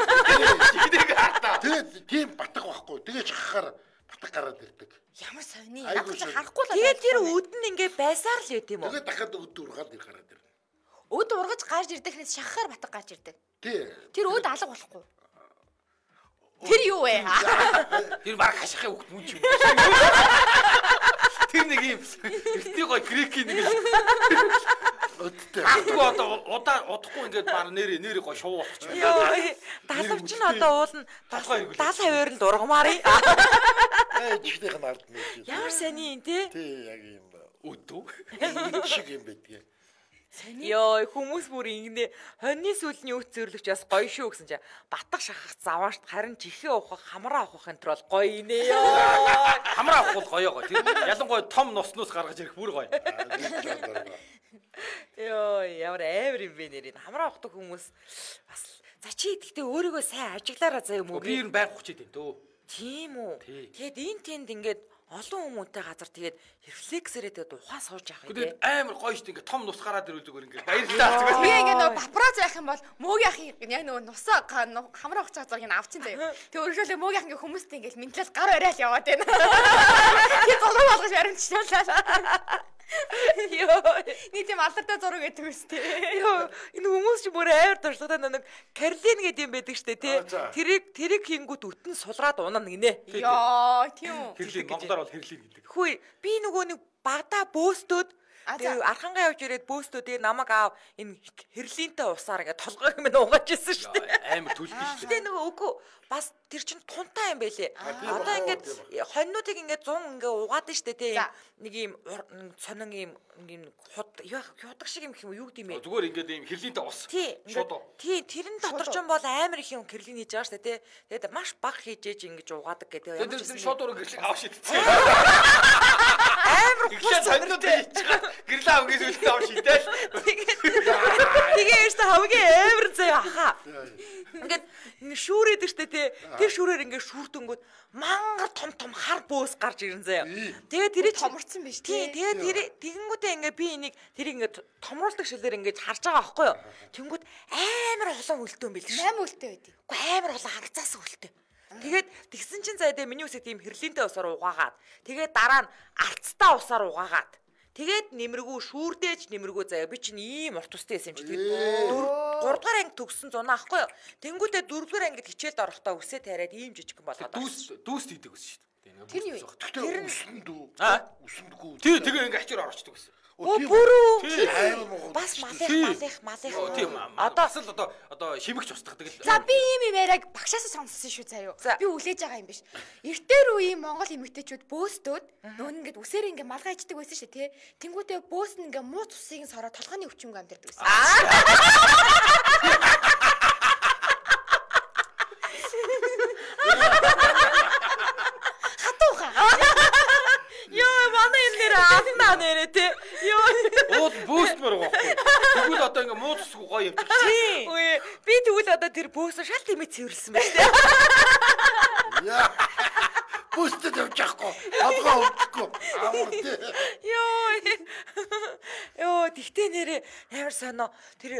Чихнийг хартаа. Тэгээд тийм батг байхгүй. Тэгээд шахахаар батг гараад ирдэг. Ямар сони. Яг ч харахгүй л. Тэгээд тэр өд нь ингээ байсаар л байт юм уу? Тэгээд дахиад өд ургаад ир гараад ирнэ. Өд ургаж гарч ирдэхнээс шахахаар батг гарч ирдэг. Тий. Тэр өд алга болохгүй. Тэр юу вэ? Тэр баг хашихын хөвгт мөн ч юм. Тэр нэг юм эртний гой грекийн нэг өдтэй. Хатгүй одоо удахгүй ингээд баг нэр гой шуу болчих. Йоо, далавч нь одоо уулна 70% нь дургамаарыг. Чихнийх нь ард нь. Ямар сони юм те? Тий, яг юм өдөө. Шиг юм байдгийг. Йоо, хүмүүс бүр ингэнэ хоньны сүлний үт зөрлөгч бас гоё шүү гэсэн чи батг шахах заваашт харин чихээ ухах хамраа ухах энэ төр бол гоё инэ ёо. Хамраа ухах бол гоё. Тэр ялангуяа том носноос гаргаж ирэх бүр гоё. Йоо, ямар амар юм бэ нэр энэ хамраа ухдаг хүмүүс бас за чи гэхдээ өөрийгөө сайн ажиглаараа заа юм уу? Би ер нь байнга хүчээд байна дөө. Тийм үү. Тэгээд энэ тэнд ингээд олон хүмүүнтэй газар тэгээд рефлексээрээ тэгээд ухаан сууж явах юм. Тэгээд амар гоё шүү дээ. Ингээд том нус гараад ирвэл зүгээр ингээд баярлалаа. Би ингээд нөгөө папараз байх юм бол мөөгийн ахын яг нөгөө нусаа хамраа ухаж байгаа зургийг авчин заяа. Тэг өргөжлөө мөөгийн ахын хүмүүстэй ингээд ментлал гар барайл яваад байна. Тэгээд зураг болгож баримтчлаа. Йоо, нэг тийм алдартай зураг гэдэг үстэй. Йоо, энэ хүмүүс чи бүр амар туршлагатай нэг Карлин гэдэг юм байдаг штэ тий. Тэрийг хийнгүүт өтөн сулраад унана гинэ. Йоо, тийм үү. Хэрлин Монголоор бол хэрлин гэдэг. Хүй, би нөгөө нэг багада бөөстөөд Тэгээ архангаа явж ирээд бөөстөө тэгээ намайг аав энэ хэрлийнтэй усаар ингээ толгойг минь угааж ирсэн шүү дээ. Амар түлхэж шүү дээ. Тэгээ нөгөө үгүй бас тэр чин тунтаа юм байлээ. Одоо ингээд хоньнуудыг ингээд 100 ингээ угаад нь штэ тий. Нэг юм сонин юм юудаг шиг юм гэх юм юу гэдэм бэ? Зүгээр ингээд ийм хэрлийнтэй ус. Шууд. Тий, тэрэн дотор ч юм бол амар их юм хэрлин хийж байгаа штэ тий. Тэгээд маш бага хийж ээж ингэж угаадаг гэдэг. Тэгээд тэр шууд ураг гэрлээ авах шийдсэн. Амар ихлэ сонинуудыг гэрлээ авах гэж үлдээ авах шийдэл. Тэгээ eerst хамгийн амар заяа хаа. Ингээд шүүрээд штэ тий. Тэр шүүрээр ингээд шүүрдэнгүүд мангар том хар бөөс гарч ирэн заяа. Тэгээ тэрийг томорцсон биш тий. Тэгээ тэр тэгэнгүүтээ ингээд би энийг тэрийг ингээд томруулдаг шилээр ингээд харж байгаа байхгүй юу. Тэнгүүд амар олон үлдэн байл ш. 8 үлдээ байдیں۔ Уу амар олон хагцаас үлдээ. Тэгээд тэгсэн чинь заа дээ миний үсэг тийм хэрлийнтэй усаар угаагаад тэгээд дараа нь арцтай усаар угаагаад тэгээд нэмэргүй шүүрдээж нэмэргүй заяа би чинь ийм урт устай байсан юм чи тэгээд 3 дугаар анги төгссөн зунаа ахгүй юу. Тэнгүүтээ 4 дугаар ангид хичээлд орохдоо үсээ тариад ийм жижигхэн болоод дүүс хийдэг ус шүү дээ. Тэр нь юу? Тэр үсэндүү. Үсэндгүй. Тий тэгээ ингээ ачаар орчдөг гэсэн. Бүрүү бас малих тийм одоо шимэгч устгадаг л. За би ийм яриаг багшаасаа сонссон шүү заяа. Би үлээж байгаа юм биш. Эртээр үеийн Монгол эмэгтэйчүүд бөөстөөд нүүн ингээд үсээр ингээд малгай ичдэг байсан шүү тий. Тэнгүүтээ бөөс нь ингээд муу цусыг сороо толгойн өвчмөг амьдэрдэг байсан. Йоо манай энэ нэр афнаа нэрэ тий. Йоо. Ууд бөөст мөр гохгүй. Тэгвэл одоо ингээ муу цусгүй гоё явчих. Тий. Үгүй би тэгвэл одоо тэр бөөсөө шал тэмээ цэвэрлсэн байна тий. Яа. Бөөстэй явчихгүй. Толгой өвдөхгүй. Амар тий. Йоо тэгтээ нэрээ амар сонио тэр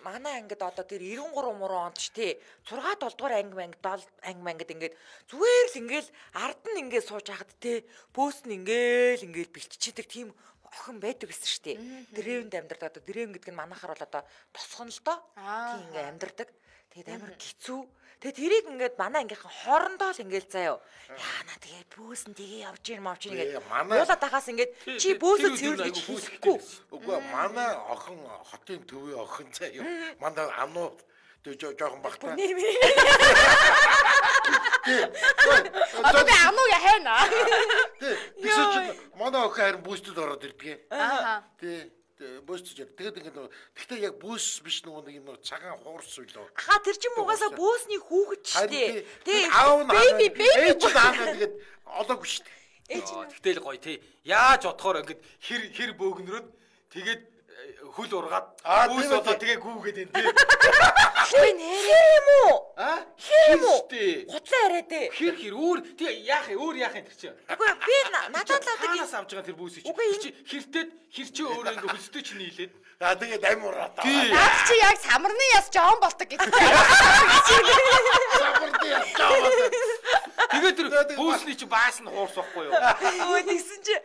манай ангид одоо тэр 93 муруу онд ч тий 6 7 дугаар анги 7 ангид ингээд зүгээр л ингээл ард нь ингээд сууж хахад тий бөөс нь ингээл бэлтчидэг тийм охин байдаг гэсэн шүү дээ. Дэрээнд амьдардаг одоо дэрээн гэдэг нь манайхаар бол одоо тосхон л доо тийм ингээд амьдардаг. Тэгээд амар хэцүү. Тэгээд тэрийг ингээд манай ангийнхан хоорондоо л ингээд заяа. Яана тэгээ бөөс нь тэгээ явж ийн мавч ингээд уулаад тахаас ингээд чи бөөсөө цэвэрлэж хийхгүй. Үгүй манай охин хотын төвийн охин заяа. Манай амнуу жоохон багтаа. Одоо би амнуу яхана. Тий. Манай охин харин бөөсдөд ороод ирдэг. Аа. Тий. Бөөсдөж. Тэгээд ингээд гэхдээ яг бөөс биш нэг юм цагаан хуурс үлээ. Аха тэр чинь угаасаа бөөсний хүүхэд ч тий. Тий. Аав нь ээж аавна тэгээд олоогүй шүү дээ. Тэгтэл гоё тий. Яаж бодохоор ингээд хэр бөөгнөрөөд тэгээд хөл ургаад бөөс одоо тэгээ гүүгээд энэ тий. Би нэрээ юм уу? Хэм үү? Хутлаа яриад дээ. Хэр өөр тий яах юм тэр чинь. Үгүй би надад л одоо авч байгаа тэр бөөсөж. Хэр чи өөрөө ингээ хөлстэй чинь нийлээд. За тэгээд амиураа. Наад чи яг самарны яс жоон болдог гэдэг. Самарны яс жоон болдог. Тэгээд тэр бөөсний чи баас нь хуурс واخгүй юу? Өө тэгсэн чи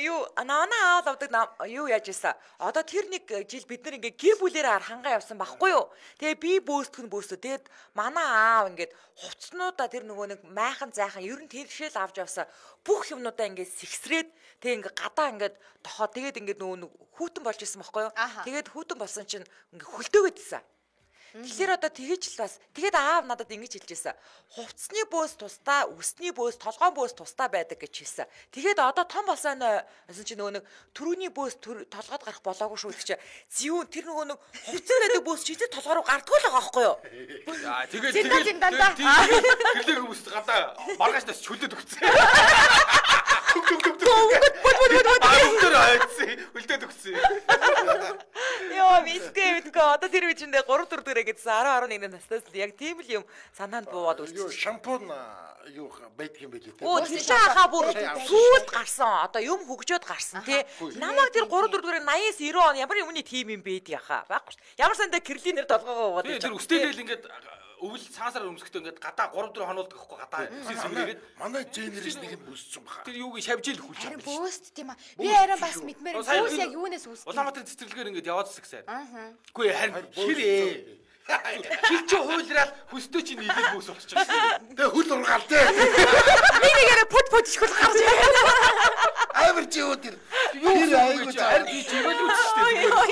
юу наанаа аавал авдаг юу яаж ийсэн. Одоо тэр нэг жил бид нар ингээ гэр бүлээрээ хангаа явсан байхгүй юу? Тэгээ би бөөсдөх нь бөөсөө. Тэгээд манай аав ингээд хувцснуудаа тэр нөгөө нэг майхан зайхан ер нь тэршэл авч явсан бүх юмнуудаа ингээд сэгсрээд тэгээ ингээ гадаа ингээд тохоо тэгээд ингээд нөгөө хүүтэн болж исэн байхгүй юу? Тэгээд хүүтэн болсон чинь ингээ хөлтөөгөөд исэн. Тэгэхээр одоо тэгэж л бас тэгээд аав надад ингэж хэлжсэн. Хувцсны бөөс тусдаа, үсний бөөс, толгойн бөөс тусдаа байдаг гэж хэлсэн. Тэгээд одоо том болсон гэсэн чи нөгөө нэг төрөний бөөс толгойд гарах болоогүй шүү гэж чи. Зүүн тэр нөгөө нэг хувцсан байдаг бөөс чийдээ толгой руу гардгүй л байгаа байхгүй юу? За тэгээд гэрлэг хүмүүст гадаа маргаашнаас чөлөөд өгсөн. Үлдээд өгсөн. Йоо мэдгүй одоо тэр үчиндээ 3 4 дөрөө гэдсэн 10 11 наснаас л яг тийм л юм санаанд буугаад үлдсэн. Шампунь юу байдаг юм бэ лээ. Оо тэр хаа бүр сүүлд гарсан. Одоо юм хөгжөөд гарсан тий. Намайг тэр 3 4 дөрөө 80-с 90 он ямар юмны тим юм бэ яхаа. Байхгүй. Ямар сандаа кирлинээр толгоогоо уугаад. Тэр үстэйдэл ингээд өвөл цаасаар өмсөхдөө ингээд гадаа 3 4 хонуулдаг байхгүй гадаа сэмрээгээд манай генерашныг нь бүссэн баха. Тэр юуг шавжил хүлж байгаа. Харин бөөст тийм аа. Би арай бас мэдмээр бөөс яг юунаас үүсдэг. Улаанбаатарын цэцэрлэгээр ингээд яваадс гэсэн. Үгүй харин хэр Чи ч хуйлраад хөстөө чи нийлээд бөөс болчих шээ. Тэгээ хөл ургаал дээ. Би нэгээрээ пут ишгүүл гарч Амар чи юу тэр. Юу айгуу чаар би живэлүүч штэ.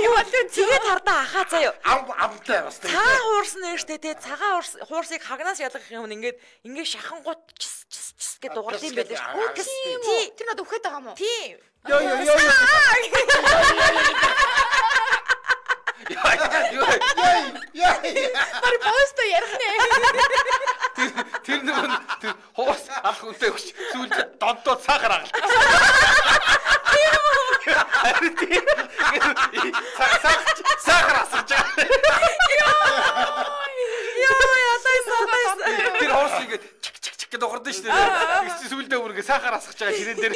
юу болов тэгээд хардаа ахаа заяа. Амтай бас тэгээ. Цаа хуурсан нь штэ те цагаан хуурсыг хагнаас ялгах юм ингээд шахангууд чс гэд дуурд юм байлээ шүү. тий тэр надад өгөхөд байгаа юм уу? Тийм. Яа. Бари пост ярих нэ. Тэр нэг хоос алах үнтэй өгч сүүлд донтоо цаахаар агалт. Цаахаар асарч байгаа. Тэр хоос ингэ чик гэдэг дуурд нь шүү дээ. Тэгс сүүлдээ үргээ цаахаар асгаж байгаа ширээн дээр.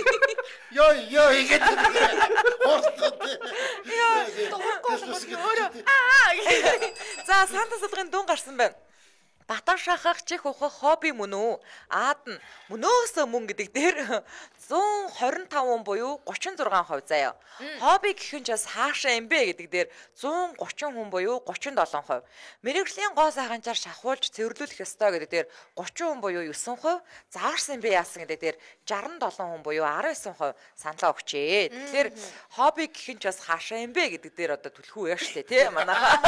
Йоо игээд. За санта салгын дун гарсан байна. Батан шахах чих ухах хобби мөн үү? Аад нь мөнөөсөө мөн гэдэг дээр 125 буюу 36% заяа. Хобби гэх нь ч бас хаашаа юм бэ гэдэг дээр 130 хүн буюу 37%. Мэргэжлийн гоо сайханчаар шахуулж цэвэрлүүлэх ёстой гэдэг дээр 30 хүн буюу 9%, заарсан юм бэ яасан гэдэг дээр 67 хүн буюу 19% саналаа өгчээ. Тэгэхээр хобби гэх нь ч бас хаашаа юм бэ гэдэг дээр одоо түлхүү яа штэ тий манайхаа.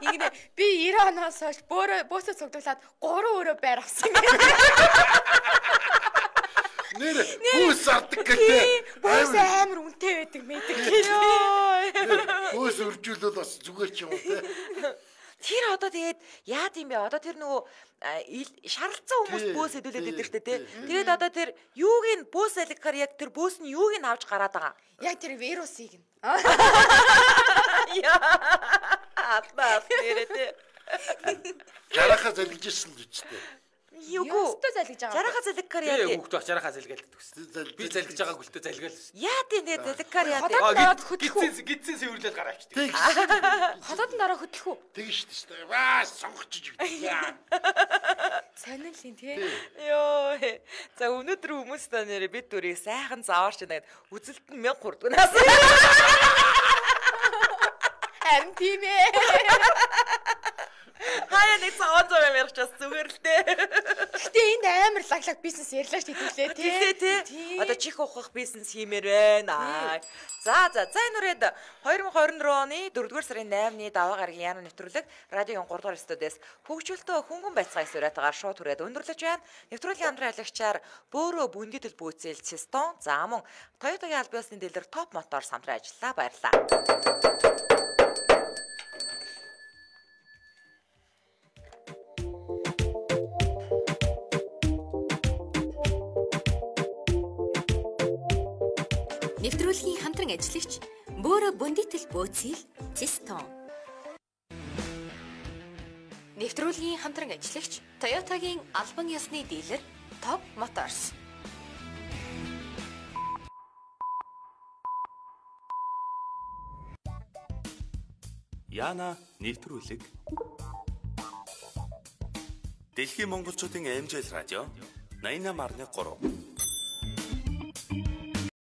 Ингэнэ би 90 оноос хойш бөөсөө цуглуулад 3 өрөө байр авсан юм. Нэр хүүс ардаг гэдэг. Бөөс амар үнэтэй байдаг мэдэг гэлээ. Хүүс үржүүлээд бас зүгээр ч юм уу те. Тэр одоо тэгээд яад юм бэ? Одоо тэр нөгөө шаралцсан хүмүүс бөөс хэдүүлээд идэв штэ тий. Тэгээд одоо тэр юуг нь бөөс алихаар яг тэр бөөс нь юуг нь авч гараад байгаа. Яг тэр вирусыг нь. Яа. Атбаа нэрээ тий. Жарахаа залгиж ирсэн л үстэй. Юугүй. Өстө залгиж байгаа. Жарахаа залгихаар яа. Хүүхд баг жарахаа залгаалдаг гэсэн. Би залгиж байгааг үлдээ залгаал. Яа тийм залгихаар яа. Гидсэн сэвэрлээд гараа авчдаг. Тэг. Хотодон дараа хөтлөх үү? Тэгж штэ. Ваа сонгочж битээ. Сонирхол юм тий. Йоо. За өнөөдөр хүмүүс та нэрээ бид дүрийг сайхан зааварч байна гэд үзэлт нь 1000 хүрдгэнаас. Харин тийм ээ. Хаяа нэг цаон зам ярих ч бас зүгээр л дээ. Гэтэ энд амар лаглаг бизнес ярьлаа ш хэдүүлээ тий. Одоо чих ухах бизнес хиймээр байна. За энэ үрээд 2024 оны 4-р сарын 8-ны даваа гарагийн яна нэвтрүүлэг радиогийн 3-р студиэс хөгжүүлтөө хөнгөн байцаага сураатагаар шууд хүрээд өндөрлөж байна. Нэвтрүүлгийн хамтран ажиллагчаар бөөрөө бүндитэл бүүцэл Систон за мөн Toyota-гийн аль биесны дилер Top Motors хамтран ажиллаа. Баярлалаа. Нэвтрүүлгийн хамтран ажиллагч бөөрө бүндитэл бөөцөл Систон. Нэвтрүүлгийн хамтран ажиллагч Toyota-гийн албан ёсны дилер Top Motors. Яна нэвтрүүлэг. Дэлхийн монголчуудын аймжил радио 88.3